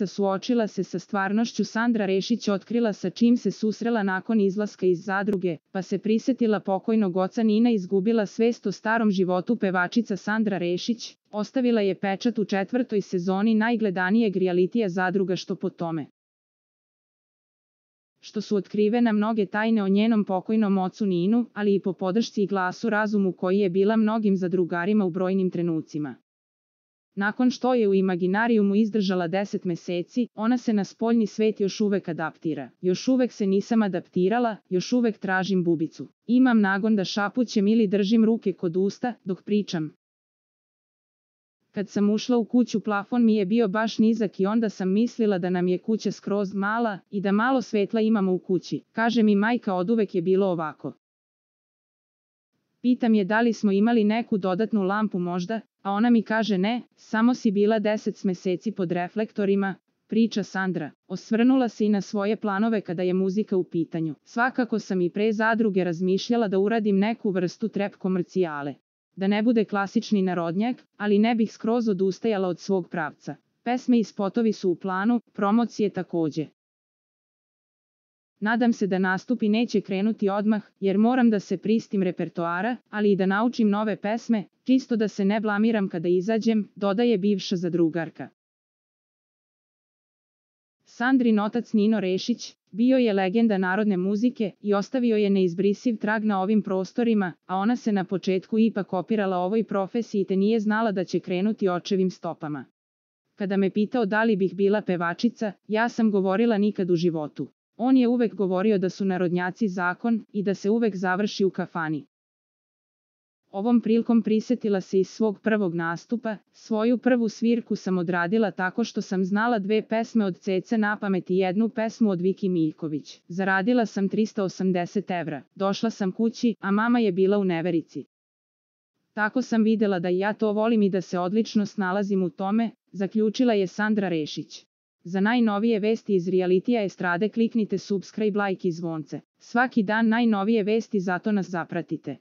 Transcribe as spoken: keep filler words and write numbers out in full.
suočila se sa stvarnošću. Sandra Rešić otkrila sa čim se susrela nakon izlaska iz zadruge, pa se prisetila pokojnog oca. Nina izgubila svest o starom životu. Pevačica Sandra Rešić ostavila je pečat u četvrtoj sezoni najgledanijeg rijalitija Zadruga, što po tome što su otkrivena mnoge tajne o njenom pokojnom ocu Ninu, ali i po podršci i glasu razumu koji je bila mnogim zadrugarima u brojnim trenucima. Nakon što je u imaginarijumu izdržala deset meseci, ona se na spoljni svet još uvek adaptira. Još uvek se nisam adaptirala, još uvek tražim bubicu. Imam nagon da šapućem ili držim ruke kod usta dok pričam. Kad sam ušla u kuću, plafon mi je bio baš nizak i onda sam mislila da nam je kuća skroz mala i da malo svetla imamo u kući. Kaže mi majka, oduvek je bilo ovako. Pitam je da li smo imali neku dodatnu lampu možda, a ona mi kaže ne, samo si bila deset meseci pod reflektorima, priča Sandra. Osvrnula se i na svoje planove kada je muzika u pitanju. Svakako sam i pre Zadruge razmišljala da uradim neku vrstu trap komercijale. Da ne bude klasični narodnjak, ali ne bih skroz odustajala od svog pravca. Pesme i spotovi su u planu, promocije takođe. Nadam se da nastupi neće krenuti odmah, jer moram da se pristim repertoara, ali i da naučim nove pesme, čisto da se ne blamiram kada izađem, dodaje bivša zadrugarka. Sandrin otac Nino Rešić bio je legenda narodne muzike i ostavio je neizbrisiv trag na ovim prostorima, a ona se na početku ipak opirala ovoj profesiji te nije znala da će krenuti očevim stopama. Kada me pitao da li bih bila pevačica, ja sam govorila nikad u životu. On je uvek govorio da su narodnjaci zakon i da se uvek završi u kafani. Ovom prilikom prisetila se iz svog prvog nastupa. Svoju prvu svirku sam odradila tako što sam znala dve pesme od Cece na pamet i jednu pesmu od Viki Miljković. Zaradila sam trista osamdeset evra. Došla sam kući, a mama je bila u neverici. Tako sam videla da i ja to volim i da se odlično snalazim u tome, zaključila je Sandra Rešić. Za najnovije vesti iz realitija estrade kliknite subscribe, like i zvonce. Svaki dan najnovije vesti, zato nas zapratite.